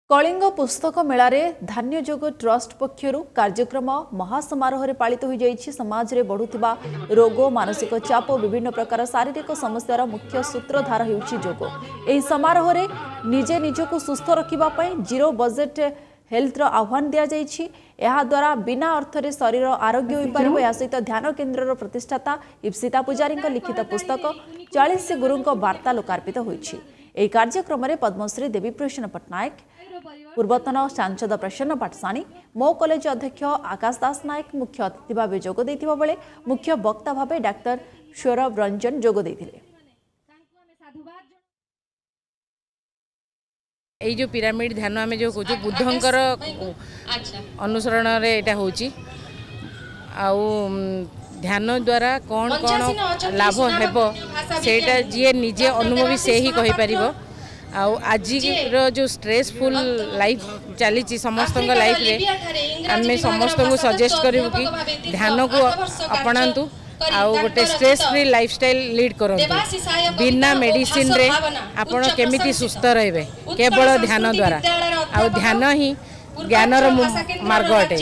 କଳିଙ୍ଗ ପୁସ୍ତକ ମେଳାରେ ଧ୍ୟାନଯୋଗ ଟ୍ରଷ୍ଟ ପକ୍ଷରୁ କାର୍ଯ୍ୟକ୍ରମ ମହାସମାରୋହରେ ପାଳିତ ହୋଇଯାଇଛି। ସମାଜରେ ବଢ଼ୁଥିବା ରୋଗ, ମାନସିକ ଚାପ ଓ ବିଭିନ୍ନ ପ୍ରକାର ଶାରୀରିକ ସମସ୍ୟାର ମୁଖ୍ୟ ସୂତ୍ରଧାର ହେଉଛି ଯୋଗ। ଏହି ସମାରୋହରେ ନିଜେ ନିଜକୁ ସୁସ୍ଥ ରଖିବା ପାଇଁ ଜିରୋ ବଜେଟ୍ ହେଲ୍ଥର ଆହ୍ୱାନ ଦିଆଯାଇଛି। ଏହାଦ୍ୱାରା ବିନା ଅର୍ଥରେ ଶରୀର ଆରୋଗ୍ୟ ହୋଇପାରିବ। ଏହା ସହିତ ଧ୍ୟାନ କେନ୍ଦ୍ରର ପ୍ରତିଷ୍ଠାତା ଇପ୍ସିତା ପୂଜାରୀଙ୍କ ଲିଖିତ ପୁସ୍ତକ 40 ଗୁରୁଙ୍କ ବାର୍ତ୍ତା ଲୋକାର୍ପିତ ହୋଇଛି। ଏହି କାର୍ଯ୍ୟକ୍ରମରେ ପଦ୍ମଶ୍ରୀ ଦେବୀପ୍ରସନ୍ନ ପଟ୍ଟନାୟକ, ପୂର୍ବତନ ସାଂସଦ ପ୍ରସନ୍ନ ପାଟଶାଣୀ, ମୋ କଲେଜ ଅଧ୍ୟକ୍ଷ ଆକାଶ ଦାସ ନାୟକ ମୁଖ୍ୟ ଅତିଥି ଭାବେ ଯୋଗ ଦେଇଥିବା ବେଳେ ମୁଖ୍ୟ ବକ୍ତା ଭାବେ ଡାକ୍ତର ସୌରଭ ରଞ୍ଜନ ଯୋଗ ଦେଇଥିଲେ। ଏଇ ଯେଉଁ ପିରାମିଡ଼ ଧ୍ୟାନ ଆମେ ଯେଉଁ କହୁଛୁ, ବୁଦ୍ଧଙ୍କର ଅନୁସରଣରେ ଏଇଟା ହେଉଛି। ଆଉ ଧ୍ୟାନ ଦ୍ୱାରା କ'ଣ କ'ଣ ଲାଭ ହେବ, ସେଇଟା ଯିଏ ନିଜେ ଅନୁଭବୀ ସେ ହିଁ କହିପାରିବ। ଆଉ ଆଜିର ଯେଉଁ ଷ୍ଟ୍ରେସଫୁଲ୍ ଲାଇଫ୍ ଚାଲିଛି ସମସ୍ତଙ୍କ ଲାଇଫ୍ରେ, ଆମେ ସମସ୍ତଙ୍କୁ ସଜେଷ୍ଟ କରିବୁ କି ଧ୍ୟାନକୁ ଆପଣାନ୍ତୁ ଆଉ ଗୋଟେ ଷ୍ଟ୍ରେସ୍ ଫ୍ରି ଲାଇଫଷ୍ଟାଇଲ୍ ଲିଡ୍ କରନ୍ତୁ। ବିନା ମେଡ଼ିସିନରେ ଆପଣ କେମିତି ସୁସ୍ଥ ରହିବେ, କେବଳ ଧ୍ୟାନ ଦ୍ୱାରା। ଆଉ ଧ୍ୟାନ ହିଁ ଜ୍ଞାନର ମାର୍ଗ ଅଟେ।